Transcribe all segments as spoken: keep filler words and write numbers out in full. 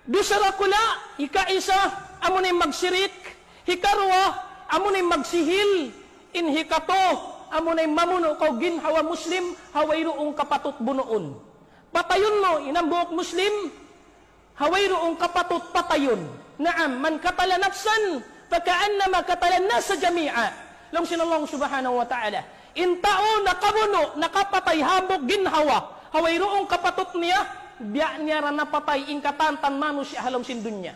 Dusa dakula', hikaisa, amuna in magsirik, hikaruwa, amuna in magsihil, in hikatu, amuna in mamunu' kaw ginhawa Muslim, ha wayruun kapatut bunuun. Patayun mu, in hambuuk Muslim, ha wayruun kapatut patayun. نعم، من قتل نفسا فكأنما قتل الناس جميعا. Laung sin Allah subhanahu wa ta'ala. In tau nakabunu', nakapatay hambuuk ginhawa, ha wayruun kapatut niya, biya' niya ra napatay in katantan manusiya' ha lawm sin dunya.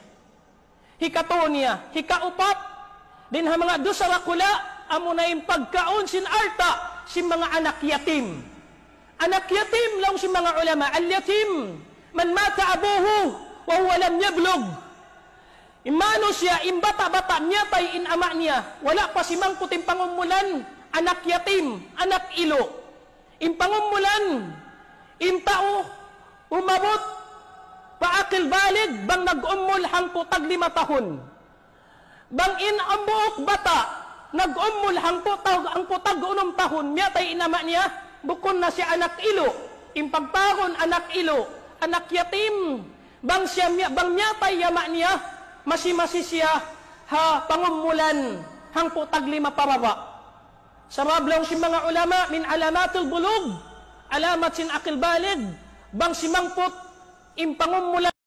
Hikatu niya, hikaupat, dayn ha manga dusa dakula', amuna in pagkaun sin alta' sin manga anak yatim. Anak yatim, laung sin manga ulama, اليتيم من مات أبوه وهو لم يبلغ. In manusiya', in bata'-bata' miyatay in ama' niya, wala' pa simangput in pangumulan, anak yatim, anak ilu'. In pangumulan, in tau umabut pa akil balig bang nag-umul hangpu' tag lima tahun. Bang in hambuuk bata', nag-umul hangpu' tag, hangpu' tag unum tahun, miyatay in ama' niya, bukun na siya anak ilu'. In pagtawagun anak ilu', anak yatim, bang siya miya-, bang miyatay in ama' niya, masi-masi siya ha pangumulan hangpu' tag lima pababa'. Sabab laung sin manga ulama, من علامات البلوغ, alamat sin akil balig, bang simangput in pangumulan